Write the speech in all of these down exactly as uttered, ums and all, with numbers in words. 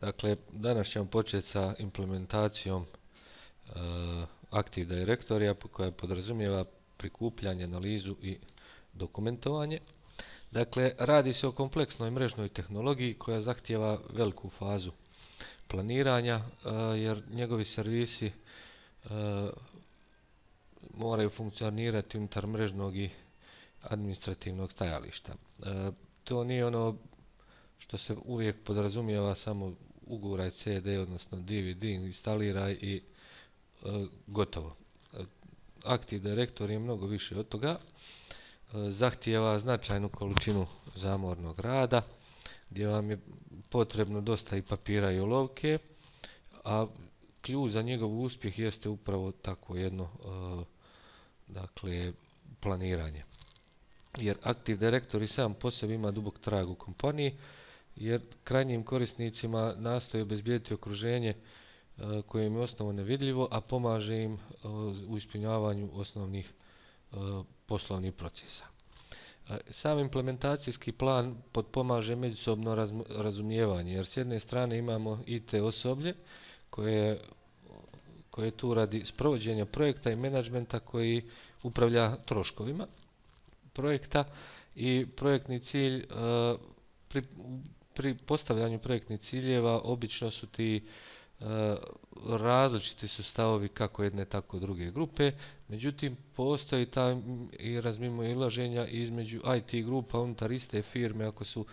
Dakle, danas ćemo početi sa implementacijom uh, Active Directory koja podrazumijeva prikupljanje, analizu i dokumentovanje. Dakle, radi se o kompleksnoj mrežnoj tehnologiji koja zahtijeva veliku fazu planiranja, uh, jer njegovi servisi uh, moraju funkcionirati unutar mrežnog i administrativnog stajališta. Uh, to nije ono što se uvijek podrazumijeva samo uguraj C D, odnosno D V D, instaliraj i e, gotovo. Active Directory je mnogo više od toga. E, zahtijeva značajnu količinu zamornog rada, gdje vam je potrebno dosta i papira i olovke, a ključ za njegov uspjeh jeste upravo tako jedno e, dakle, planiranje. Jer Active Directory sam po sebi ima dubok trag u kompaniji, jer krajnjim korisnicima nastoji obezbijediti okruženje uh, koje im je osnovno nevidljivo, a pomaže im uh, u ispunjavanju osnovnih uh, poslovnih procesa. Uh, sam implementacijski plan potpomaže međusobno raz, razumijevanje, jer s jedne strane imamo I T osoblje koje, koje je tu radi sprovođenja projekta i menadžmenta koji upravlja troškovima projekta, i projektni cilj uh, pri, pri postavljanju projektnih ciljeva obično su ti uh, različiti su stavovi kako jedne tako druge grupe, međutim postoji ta i razmimoilaženja između I T grupa unutar iste firme ako su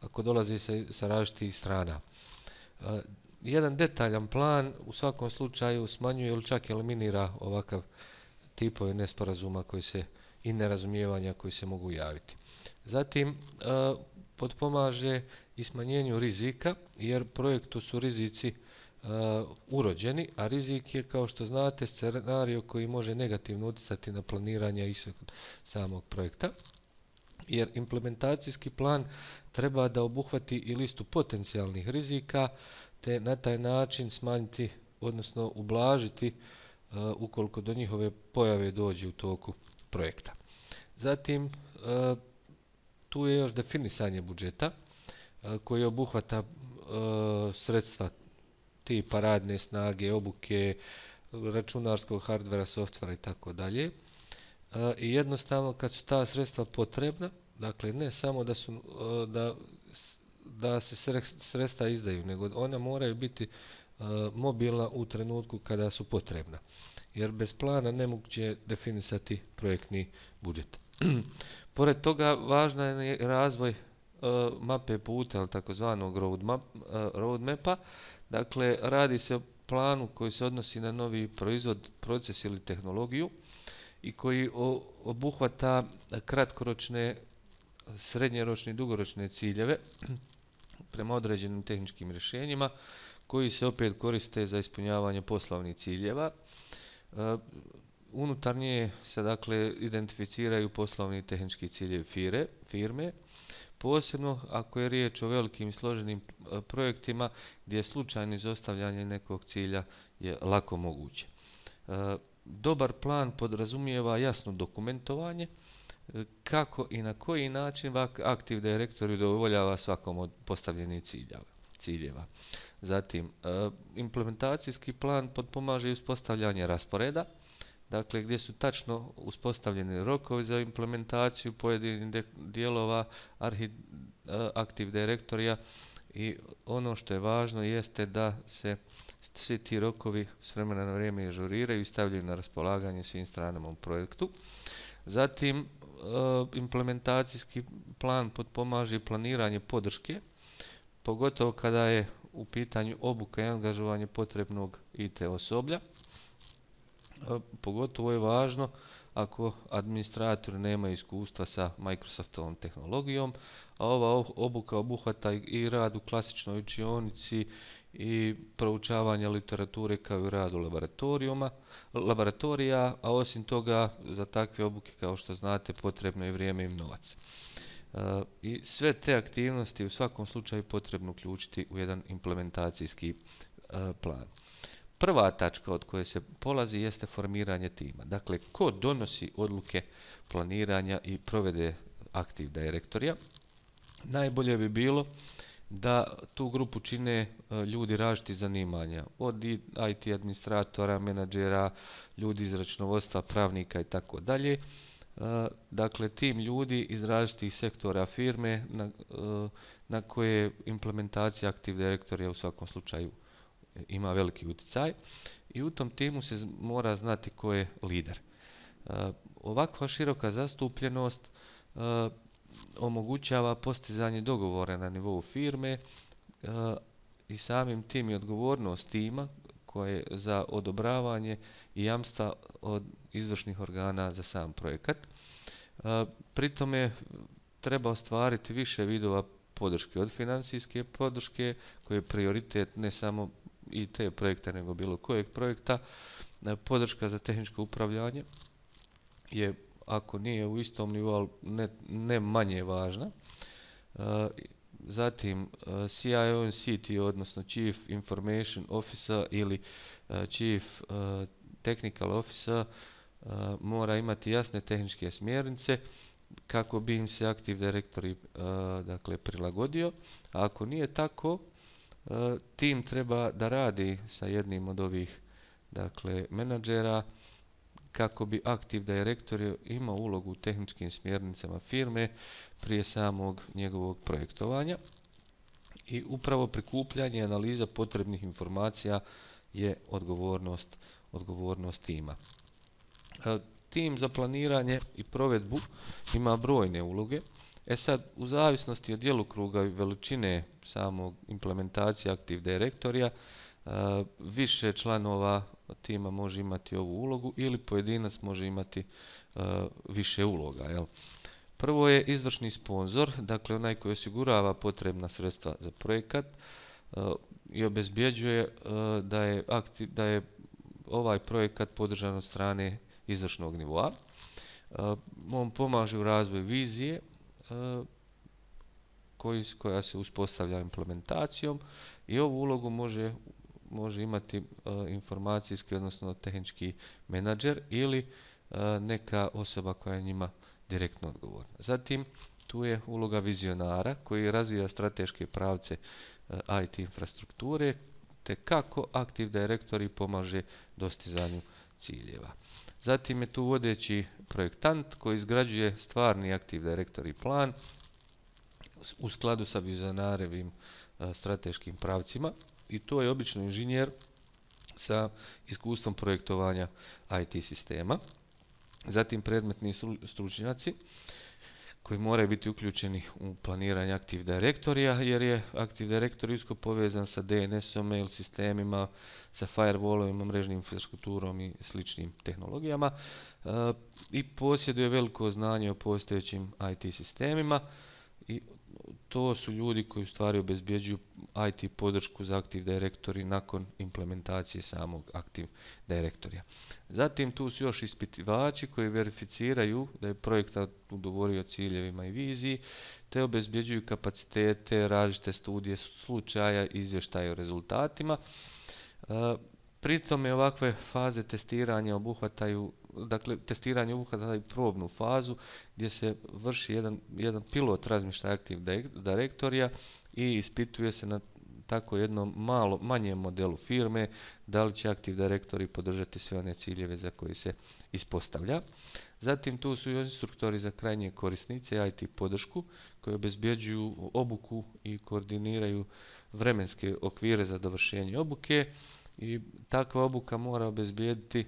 ako dolaze sa, sa različitih strana. Uh, jedan detaljan plan u svakom slučaju smanjuje ili čak eliminira ovakav tipove nesporazuma koji se i nerazumijevanja koji se mogu javiti. Zatim uh, potpomaže i smanjenju rizika, jer projektu su rizici uh, urođeni, a rizik je, kao što znate, scenario koji može negativno utjecati na planiranje ishod samog projekta, jer implementacijski plan treba da obuhvati i listu potencijalnih rizika, te na taj način smanjiti, odnosno ublažiti uh, ukoliko do njihove pojave dođe u toku projekta. Zatim, uh, tu je još definisanje budžeta uh, koji obuhvata uh, sredstva tipa radne snage, obuke, računarskog hardvera, softvera i tako dalje. I jednostavno kad su ta sredstva potrebna, dakle ne samo da su uh, da, da se sredstva izdaju, nego ona moraju biti uh, mobilna u trenutku kada su potrebna. Jer bez plana nemoguće je definisati projektni budžet. Pored toga, važna je razvoj uh, mape puta, ili takozvanog roadmap, uh, roadmapa. Dakle, radi se o planu koji se odnosi na novi proizvod, proces ili tehnologiju i koji o, obuhvata kratkoročne, srednjeročne i dugoročne ciljeve prema određenim tehničkim rješenjima koji se opet koriste za ispunjavanje poslovnih ciljeva. Uh, unutar nje se dakle identificiraju poslovni i tehnički ciljevi fire, firme, posebno ako je riječ o velikim i složenim uh, projektima gdje slučajno izostavljanje nekog cilja je lako moguće. Uh, dobar plan podrazumijeva jasno dokumentovanje uh, kako i na koji način Active Directory udovoljava svakom od postavljenih ciljeva. ciljeva. Zatim, uh, implementacijski plan potpomaže i uspostavljanje rasporeda, dakle gdje su tačno uspostavljeni rokovi za implementaciju pojedinih dijelova arhi, uh, Active Directorya, i ono što je važno jeste da se svi ti rokovi s vremena na vrijeme ažuriraju i stavljaju na raspolaganje svim stranama u projektu. Zatim, uh, implementacijski plan potpomaže planiranje podrške, pogotovo kada je u pitanju obuka i angažovanje potrebnog I T osoblja. E, pogotovo je važno ako administratori nemaju iskustva sa Microsoftovom tehnologijom, a ova obuka obuhvata i rad u klasičnoj učionici i proučavanje literature kao i rad u laboratorijuma, laboratorija, a osim toga za takve obuke, kao što znate, potrebno je vrijeme i novac. Uh, I sve te aktivnosti u svakom slučaju potrebno uključiti u jedan implementacijski uh, plan. Prva tačka od koje se polazi jeste formiranje tima. Dakle, ko donosi odluke planiranja i provede Active Directorya? Najbolje bi bilo da tu grupu čine ljudi različitih zanimanja, od I T administratora, menadžera, ljudi iz računovodstva, pravnika i tako dalje. Dakle, tim ljudi iz različitih sektora firme na, na koje implementacija Active Directorya u svakom slučaju ima veliki utjecaj i u tom timu se mora znati ko je lider. Ovakva široka zastupljenost omogućava postizanje dogovora na nivou firme i samim tim i odgovornost tima koje za odobravanje i jamstva od izvršnih organa za sam projekat. Pri tome treba ostvariti više vidova podrške, od financijske podrške koji je prioritet ne samo I T projekta nego bilo kojeg projekta. Podrška za tehničko upravljanje je, ako nije u istom nivou, ne, ne manje važna. Zatim C I O and C T O, odnosno Chief Information Officer ili Chief Technical Officer, mora imati jasne tehničke smjernice kako bi im se Active Directory dakle prilagodio. A ako nije tako, tim treba da radi sa jednim od ovih dakle menadžera kako bi Active Directory imao ulogu u tehničkim smjernicama firme prije samog njegovog projektovanja. I upravo prikupljanje i analiza potrebnih informacija je odgovornost, odgovornost tima. Tim za planiranje i provedbu ima brojne uloge. E sad, u zavisnosti od djelokruga i veličine samog implementacije Active Directorya, više članova tima može imati ovu ulogu ili pojedinac može imati više uloga. Jel? Prvo je izvršni sponzor, dakle onaj koji osigurava potrebna sredstva za projekat i obezbjeđuje da je, aktiv, da je ovaj projekat podržan od strane izvršnog nivoa. On pomaže u razvoju vizije koji, koja se uspostavlja implementacijom i ovu ulogu može, može imati informacijski, odnosno tehnički menadžer ili neka osoba koja je njima direktno odgovorna. Zatim, tu je uloga vizionara koji razvija strateške pravce I T infrastrukture te kako Active Directory pomaže dostizanju ciljeva. Zatim je tu vodeći projektant koji izgrađuje stvarni Active Directory plan u skladu sa vizionarevim strateškim pravcima i to je obično inženjer sa iskustvom projektovanja I T sistema. Zatim predmetni stručnjaci koji moraju biti uključeni u planiranje Active Directorya jer je Active Directory usko povezan sa D N S-om, mail sistemima, sa firewallovima, mrežnim infrastrukturom i sličnim tehnologijama e, i posjeduje veliko znanje o postojećim I T sistemima i to su ljudi koji u stvari obezbjeđuju I T podršku za Active Directory nakon implementacije samog Active Directorya. Zatim tu su još ispitivači koji verificiraju da je projektant udovorio ciljevima i viziji, te obezbjeđuju kapacitete, različite studije slučaja, izvještaje o rezultatima. Pri tome ovakve faze testiranja obuhvataju, dakle testiranje obuhvataju probnu fazu gdje se vrši jedan, jedan pilot razmještaja Active Directorya i ispituje se na tako jednom malo manjem modelu firme da li će Active Directory podržati sve one ciljeve za koje se ispostavlja. Zatim tu su instruktori za krajnje korisnice I T podršku koji obezbjeđuju obuku i koordiniraju vremenske okvire za dovršenje obuke i takva obuka mora obezbijediti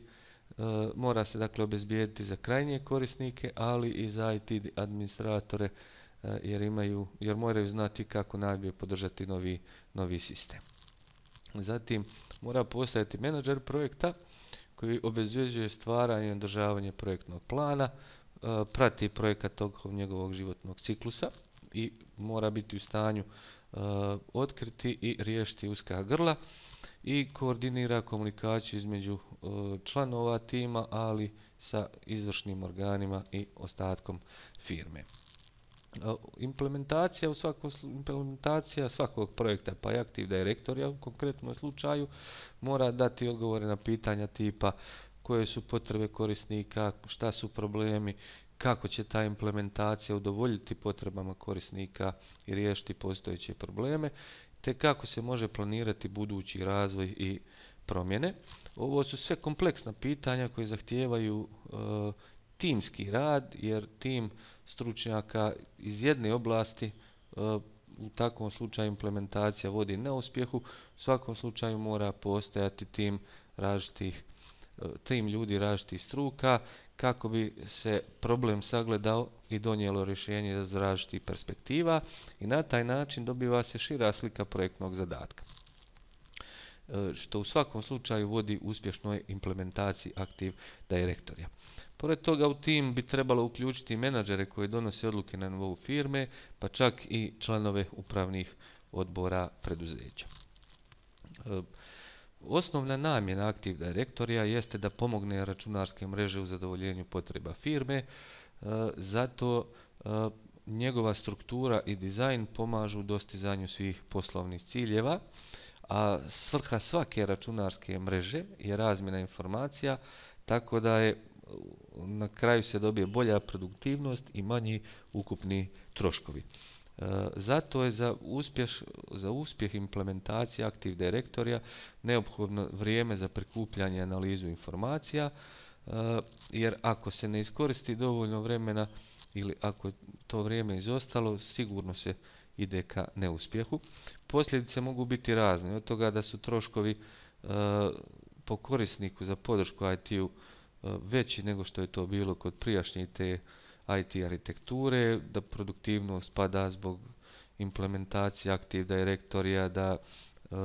uh, mora se dakle obezbijediti za krajnje korisnike, ali i za I T administratore uh, jer imaju jer moraju znati kako najbolje podržati novi novi sistem. Zatim mora postojati menadžer projekta koji obezbjeđuje stvaranje i održavanje projektnog plana, uh, prati projekat tokom njegovog životnog ciklusa i mora biti u stanju uh, otkriti i riješiti uska grla i koordinira komunikaciju između uh, članova tima, ali sa izvršnim organima i ostatkom firme. Uh, implementacija u svakom implementacija svakog projekta, pa i Active Directorya u konkretnom slučaju, mora dati odgovore na pitanja tipa koje su potrebe korisnika, šta su problemi, kako će ta implementacija udovoljiti potrebama korisnika i riješiti postojeće probleme, te kako se može planirati budući razvoj i promjene. Ovo su sve kompleksna pitanja koje zahtijevaju e, timski rad, jer tim stručnjaka iz jedne oblasti e, u takvom slučaju implementacija vodi neuspjehu. U svakom slučaju mora postojati tim različitih, tim ljudi različitih struka kako bi se problem sagledao i donijelo rješenje iz različitih perspektiva i na taj način dobiva se šira slika projektnog zadatka, što u svakom slučaju vodi uspješnoj implementaciji Active Directorya. Pored toga u tim bi trebalo uključiti menadžere koji donose odluke na nivou firme, pa čak i članove upravnih odbora preduzeća. Osnovna namjena Active Directorya jeste da pomogne računarske mreže u zadovoljenju potreba firme, zato njegova struktura i dizajn pomažu dostizanju svih poslovnih ciljeva, a svrha svake računarske mreže je razmjena informacija, tako da je na kraju se dobije bolja produktivnost i manji ukupni troškovi. E, zato je za, uspješ, za uspjeh implementacije Active Directorya neophodno vrijeme za prikupljanje i analizu informacija, e, jer ako se ne iskoristi dovoljno vremena ili ako je to vrijeme izostalo, sigurno se ide ka neuspjehu. Posljedice mogu biti razne, od toga da su troškovi e, po korisniku za podršku I T-u veći nego što je to bilo kod prijašnje te I T arhitekture, da produktivnost pada zbog implementacije Active Directorya, da e,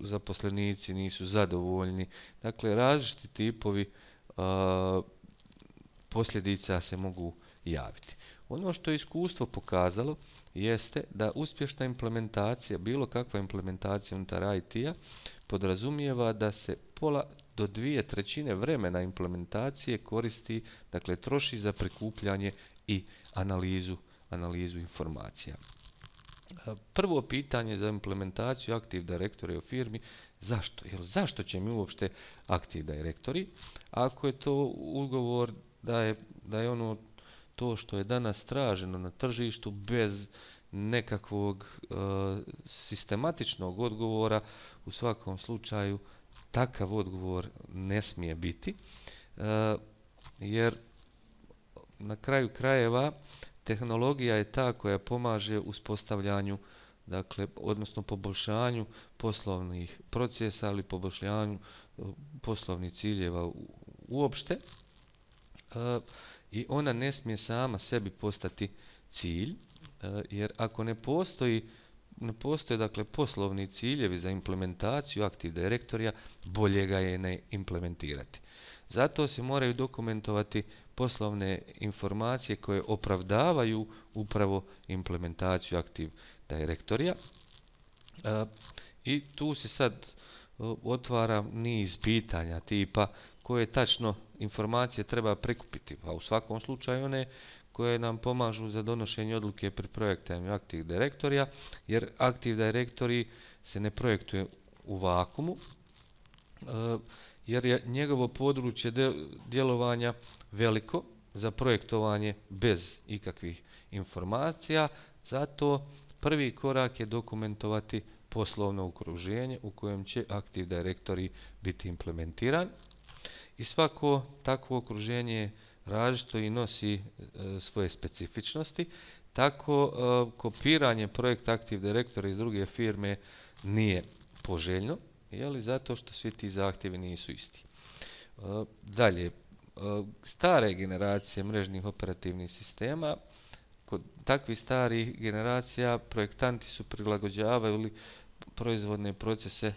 zaposlenici nisu zadovoljni. Dakle, različiti tipovi e, posljedica se mogu javiti. Ono što je iskustvo pokazalo jeste da uspješna implementacija, bilo kakva implementacija unutar I T-a, podrazumijeva da se pola do dvije trećine vremena implementacije koristi, dakle troši za prikupljanje i analizu, analizu informacija. Prvo pitanje za implementaciju Active Directory u firmi, zašto? Jer zašto će mi uopšte Active Directory? Ako je to ugovor da je, da je ono to što je danas traženo na tržištu bez nekakvog e, sistematičnog odgovora, u svakom slučaju takav odgovor ne smije biti, e, jer na kraju krajeva tehnologija je ta koja pomaže uspostavljanju, dakle, odnosno poboljšanju poslovnih procesa, ali poboljšanju poslovnih ciljeva uopšte, e, i ona ne smije sama sebi postati cilj, e, jer ako ne postoji ne postoje, dakle, poslovni ciljevi za implementaciju Active Directorya, bolje ga je ne implementirati. Zato se moraju dokumentovati poslovne informacije koje opravdavaju upravo implementaciju Active Directorya. E, I tu se sad otvara niz pitanja tipa koje tačno informacije treba prikupiti, a u svakom slučaju one koje nam pomažu za donošenje odluke pri projektanju Active Directorya, jer Active Directory se ne projektuje u vakumu, jer je njegovo područje djelovanja veliko za projektovanje bez ikakvih informacija, zato prvi korak je dokumentovati poslovno okruženje u kojem će Active Directory biti implementiran. I svako takvo okruženje različito i nosi e, svoje specifičnosti, tako e, kopiranje projekta Active Directory iz druge firme nije poželjno, jeli, zato što svi ti zahtjevi nisu isti. E, dalje, e, stare generacije mrežnih operativnih sistema, kod takvih starih generacija projektanti su prilagođavali proizvodne procese e,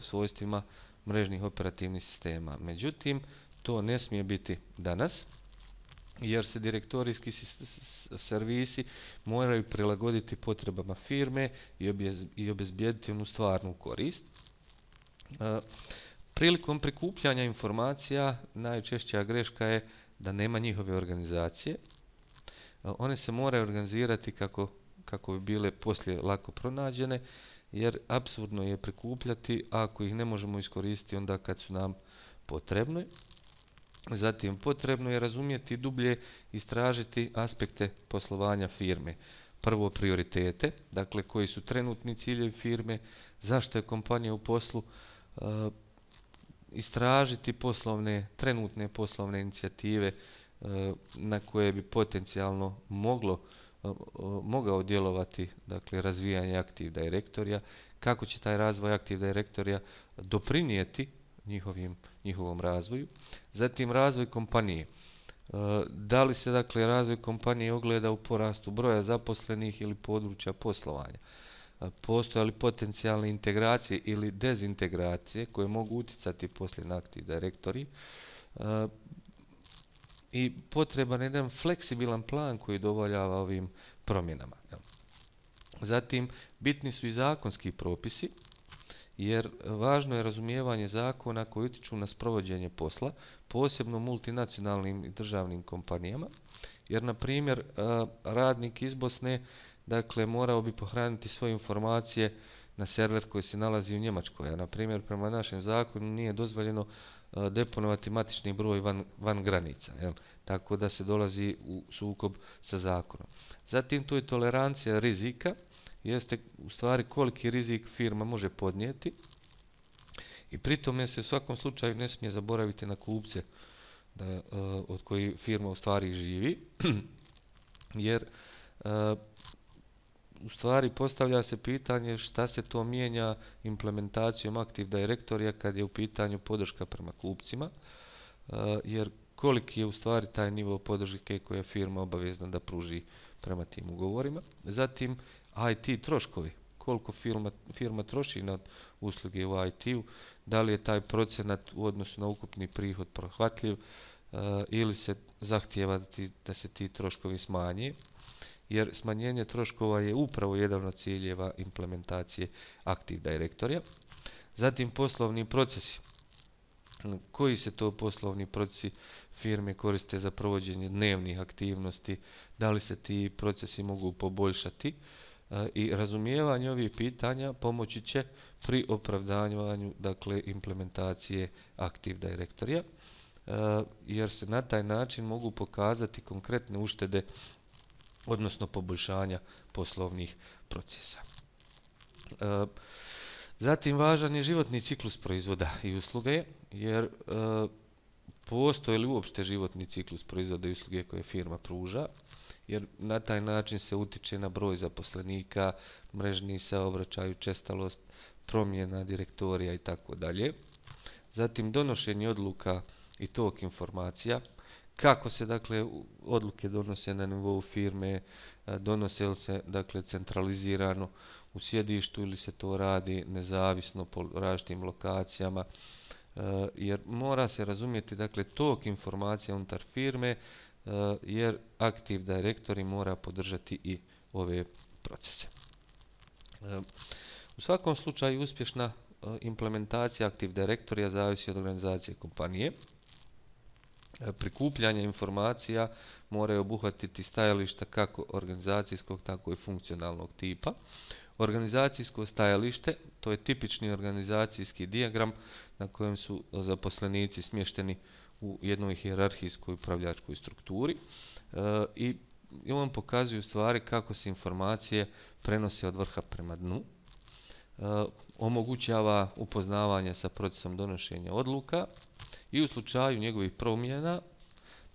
svojstvima mrežnih operativnih sistema. Međutim, to ne smije biti danas, jer se direktorijski servisi moraju prilagoditi potrebama firme i obezbijediti onu stvarnu korist. E, prilikom prikupljanja informacija najčešća greška je da nema njihove organizacije. E, one se moraju organizirati kako, kako bi bile poslije lako pronađene, jer apsurdno je prikupljati ako ih ne možemo iskoristiti onda kad su nam potrebne. Zatim, potrebno je razumjeti dublje, istražiti aspekte poslovanja firme. Prvo, prioritete, dakle koji su trenutni ciljevi firme, zašto je kompanija u poslu, e, istražiti poslovne, trenutne poslovne inicijative e, na koje bi potencijalno moglo, e, mogao djelovati, dakle razvijanje Active Directorya, kako će taj razvoj Active Directorya doprinijeti njihovim, njihovom razvoju. Zatim, razvoj kompanije. Da li se dakle razvoj kompanije ogleda u porastu broja zaposlenih ili područja poslovanja? Postoje li potencijalne integracije ili dezintegracije koje mogu utjecati poslije na Active Directory? I potreban je jedan fleksibilan plan koji dovoljava ovim promjenama. Zatim, bitni su i zakonski propisi, jer važno je razumijevanje zakona koji utječu na sprovođenje posla, posebno multinacionalnim i državnim kompanijama, jer, na primjer, radnik iz Bosne, dakle, morao bi pohraniti svoje informacije na server koji se nalazi u Njemačkoj, a, na primjer, prema našem zakonu nije dozvoljeno deponovati matični broj van, van granica, jel? Tako da se dolazi u sukob sa zakonom. Zatim, tu je tolerancija rizika, jeste u stvari koliki rizik firma može podnijeti i pritome se u svakom slučaju ne smije zaboraviti na kupce da, uh, od koji firma u stvari živi, jer uh, u stvari postavlja se pitanje šta se to mijenja implementacijom Active Directorya kad je u pitanju podrška prema kupcima, uh, jer koliki je u stvari taj nivo podrške koje je firma obavezna da pruži prema tim ugovorima. Zatim, I T troškovi, koliko firma, firma troši na usluge u I T-u, da li je taj procenat u odnosu na ukupni prihod prihvatljiv uh, ili se zahtijeva da, ti, da se ti troškovi smanje, jer smanjenje troškova je upravo jedan od ciljeva implementacije Active Directorya. Zatim, poslovni procesi. Koji se to poslovni procesi firme koriste za provođenje dnevnih aktivnosti, da li se ti procesi mogu poboljšati, i razumijevanje ovih pitanja pomoći će pri opravdanju, dakle, implementacije Active Directorya, jer se na taj način mogu pokazati konkretne uštede, odnosno poboljšanja poslovnih procesa. Zatim, važan je životni ciklus proizvoda i usluge, jer postoji li uopšte životni ciklus proizvoda i usluge koje firma pruža, jer na taj način se utiče na broj zaposlenika, mrežni saobraćaj, učestalost, promjena direktorija i tako dalje. Zatim, donošenje odluka i tok informacija, kako se, dakle, odluke donose na nivou firme, donose li se, dakle, centralizirano u sjedištu ili se to radi nezavisno po različitim lokacijama, jer mora se razumjeti, dakle, tok informacija unutar firme, jer Active Directory mora podržati i ove procese. U svakom slučaju, uspješna implementacija Active Directorya zavisi od organizacije kompanije. Prikupljanje informacija moraju obuhvatiti stajališta kako organizacijskog, tako i funkcionalnog tipa. Organizacijsko stajalište, to je tipični organizacijski dijagram na kojem su zaposlenici smješteni u jednoj hijerarhijskoj upravljačkoj strukturi e, i, i on pokazuje u stvari kako se informacije prenose od vrha prema dnu, e, omogućava upoznavanje sa procesom donošenja odluka i u slučaju njegovih promjena,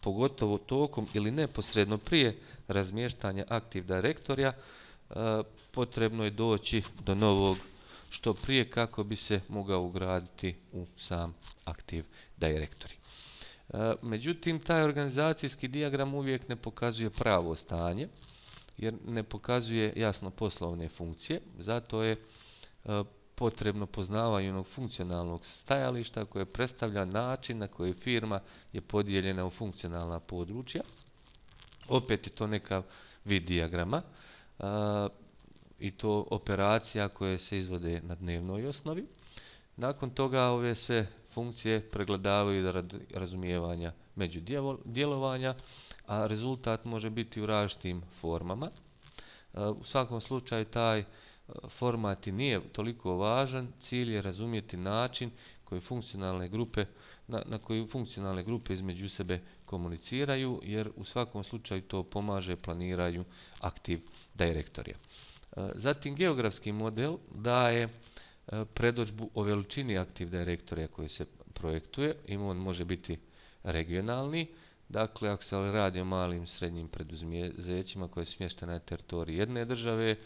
pogotovo tokom ili neposredno prije razmještanja Active Directorya, e, potrebno je doći do novog što prije kako bi se mogao ugraditi u sam Active Directory. Međutim, taj organizacijski dijagram uvijek ne pokazuje pravo stanje, jer ne pokazuje jasno poslovne funkcije, zato je potrebno poznavanje onog funkcionalnog stajališta koje predstavlja način na koji firma je podijeljena u funkcionalna područja. Opet je to neka vid dijagrama i to operacija koje se izvode na dnevnoj osnovi. Nakon toga ove sve funkcije pregledavaju do razumijevanja međudjelovanja, a rezultat može biti u različitim formama. U svakom slučaju taj format i nije toliko važan, cilj je razumjeti način koje funkcionalne grupe na, na koju funkcionalne grupe između sebe komuniciraju, jer u svakom slučaju to pomaže planiranju Active Directorija. Zatim, geografski model daje predodžbu o veličini Active Directorija koji se projektuje i on može biti regionalni. Dakle, ako se radi o malim srednjim preduzećima koje su smještene na teritoriji jedne države,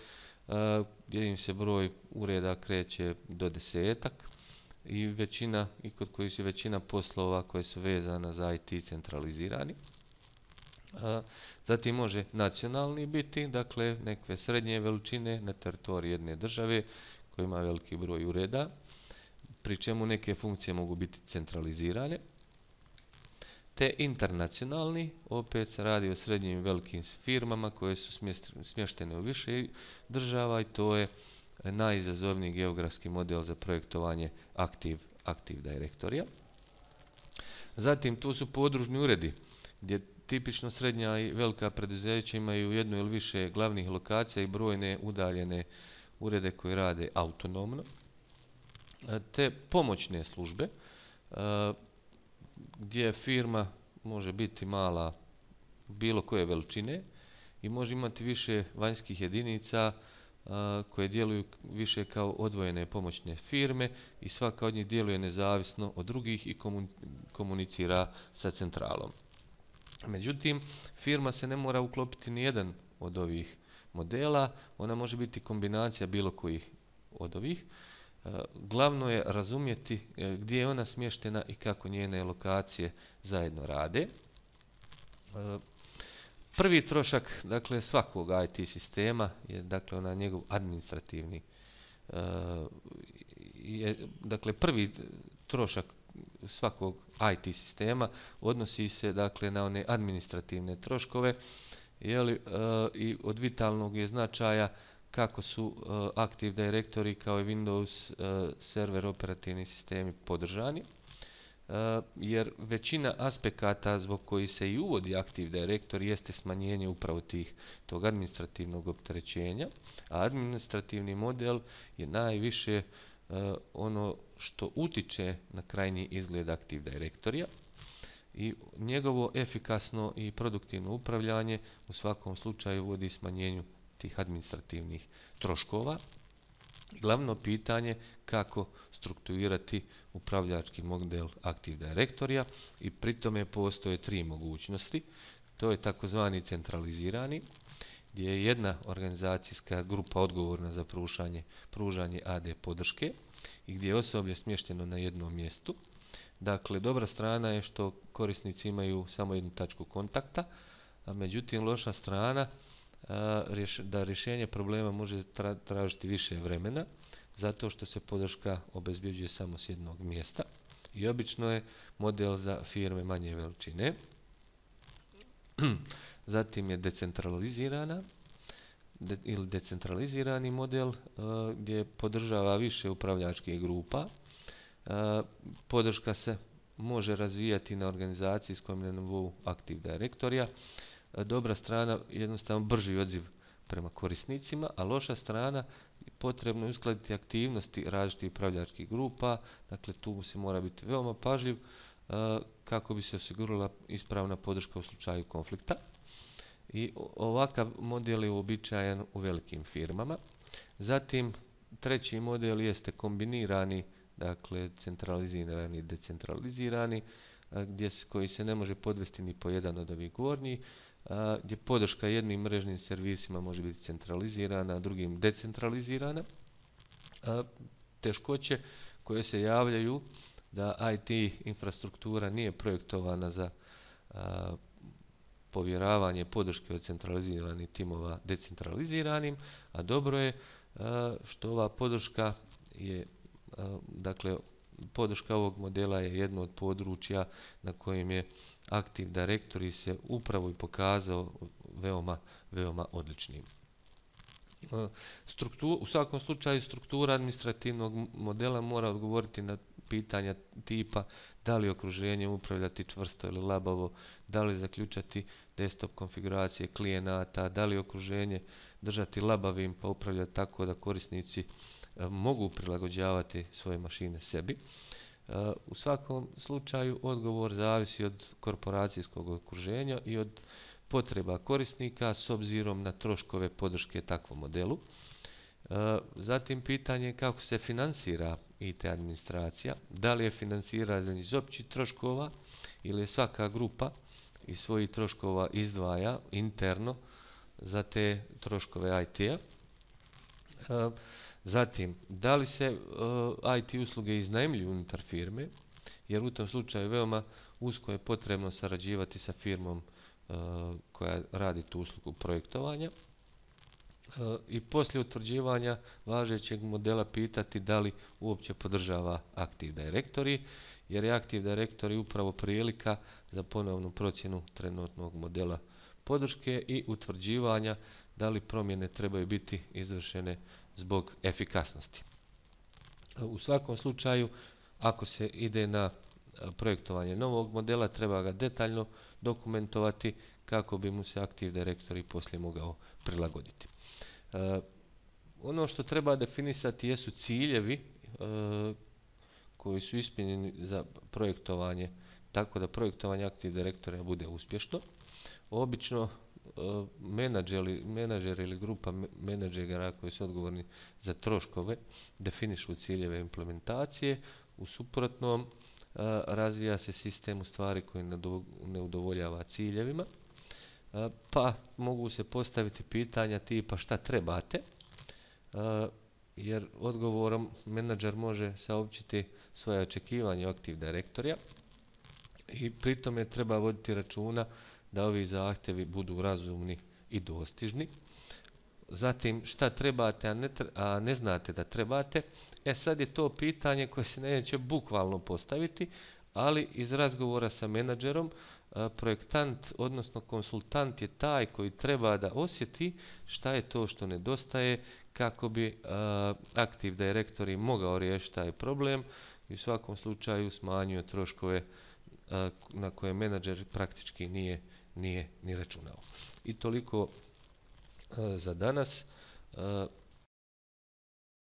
gdje im se broj ureda kreće do desetak i većina, i kod kojih su većina poslova koje su vezana za I T centralizirani. Zatim može nacionalni biti, dakle neke srednje veličine na teritoriji jedne države koja ima veliki broj ureda, pri čemu neke funkcije mogu biti centralizirane. Te internacionalni, opet se radi o srednjim i velikim firmama koje su smještene u više država i to je najizazovniji geografski model za projektovanje Active, Active Directorija. Zatim tu su podružni uredi gdje tipično srednja i velika preduzeća imaju jednu ili više glavnih lokacija i brojne udaljene urede koji rade autonomno. Te pomoćne službe gdje firma može biti mala bilo koje veličine i može imati više vanjskih jedinica koje djeluju više kao odvojene pomoćne firme i svaka od njih djeluje nezavisno od drugih i komunicira sa centralom. Međutim, firma se ne mora uklopiti ni jedan od ovih modela, ona može biti kombinacija bilo kojih od ovih. Glavno je razumjeti gdje je ona smještena i kako njene lokacije zajedno rade. Prvi trošak, dakle, svakog I T sistema je, dakle, ona njegov administrativni. Je, dakle, prvi trošak svakog I T sistema odnosi se, dakle, na one administrativne troškove, jeli, i od vitalnog je značaja kako su uh, Active Directory kao i Windows uh, server operativni sistemi podržani, uh, jer većina aspekata zbog koji se i uvodi Active Directory jeste smanjenje upravo tih, tog administrativnog opterećenja, a administrativni model je najviše uh, ono što utiče na krajnji izgled Active Directorija i njegovo efikasno i produktivno upravljanje u svakom slučaju vodi smanjenju tih administrativnih troškova. Glavno pitanje kako strukturirati upravljački model Active Directorija i pri tome postoje tri mogućnosti. To je takozvani centralizirani, gdje je jedna organizacijska grupa odgovorna za pružanje, pružanje A D podrške i gdje je osoblje smješteno na jednom mjestu. Dakle, dobra strana je što korisnici imaju samo jednu tačku kontakta, a međutim loša strana da rješenje problema može tražiti više vremena, zato što se podrška obezbjeđuje samo s jednog mjesta i obično je model za firme manje veličine. Zatim je decentralizirana de, ili decentralizirani model gdje podržava više upravljačkih grupa. Podrška se može razvijati na organizacijskom nivou Active Directorija. Dobra strana jednostavno brži odziv prema korisnicima, a loša strana potrebno je uskladiti aktivnosti različitih upravljačkih grupa, dakle tu se mora biti veoma pažljiv uh, kako bi se osigurala ispravna podrška u slučaju konflikta. I ovakav model je uobičajen u velikim firmama. Zatim, treći model jeste kombinirani, dakle centralizirani i decentralizirani, uh, gdje s, koji se ne može podvesti ni po jedan od ovih gornjih, A, gdje podrška jednim mrežnim servisima može biti centralizirana, a drugim decentralizirana. A, teškoće koje se javljaju da I T infrastruktura nije projektovana za a, povjeravanje podrške od centraliziranih timova decentraliziranim, a dobro je a, što ova podrška je, a, dakle, podrška ovog modela je jedno od područja na kojem je Active Directory se upravo i pokazao veoma, veoma odličnim. Struktura, u svakom slučaju struktura administrativnog modela mora odgovoriti na pitanja tipa da li okruženje upravljati čvrsto ili labavo, da li zaključati desktop konfiguracije klijenata, da li okruženje držati labavim pa upravljati tako da korisnici mogu prilagođavati svoje mašine sebi. U svakom slučaju odgovor zavisi od korporacijskog okruženja i od potreba korisnika s obzirom na troškove podrške takvom modelu. Zatim pitanje kako se finansira I T administracija, da li je finansiranje iz općih troškova ili je svaka grupa iz svojih troškova izdvaja interno za te troškove I T-a. Zatim, da li se I T usluge iznajmljuju unutar firme, jer u tom slučaju veoma usko je potrebno sarađivati sa firmom koja radi tu uslugu projektovanja. I poslije utvrđivanja važećeg modela pitati da li uopće podržava Active Directory, jer je Active Directory upravo prilika za ponovnu procjenu trenutnog modela podrške i utvrđivanja da li promjene trebaju biti izvršene zbog efikasnosti. U svakom slučaju, ako se ide na projektovanje novog modela, treba ga detaljno dokumentovati kako bi mu se Active Directory poslije mogao prilagoditi. E, ono što treba definisati jesu ciljevi e, koji su ispunjeni za projektovanje, tako da projektovanje Active Directory bude uspješno. Obično menadžeri, menadžer ili grupa menadžera koji su odgovorni za troškove definišu ciljeve implementacije, u suprotnom razvija se sistem u stvari koji ne udovoljava ciljevima, pa mogu se postaviti pitanja tipa šta trebate, jer odgovorom menadžer može saopćiti svoje očekivanje Active Directorya i pritom je treba voditi računa da ovi zahtjevi budu razumni i dostižni. Zatim, šta trebate, a ne, a ne znate da trebate, e sad je to pitanje koje se neće bukvalno postaviti, ali iz razgovora sa menadžerom, projektant, odnosno konsultant je taj koji treba da osjeti šta je to što nedostaje kako bi Active Directory mogao riješiti taj problem i u svakom slučaju smanjio troškove na koje menadžer praktički nije nije ni računao. I toliko uh, za danas. Uh,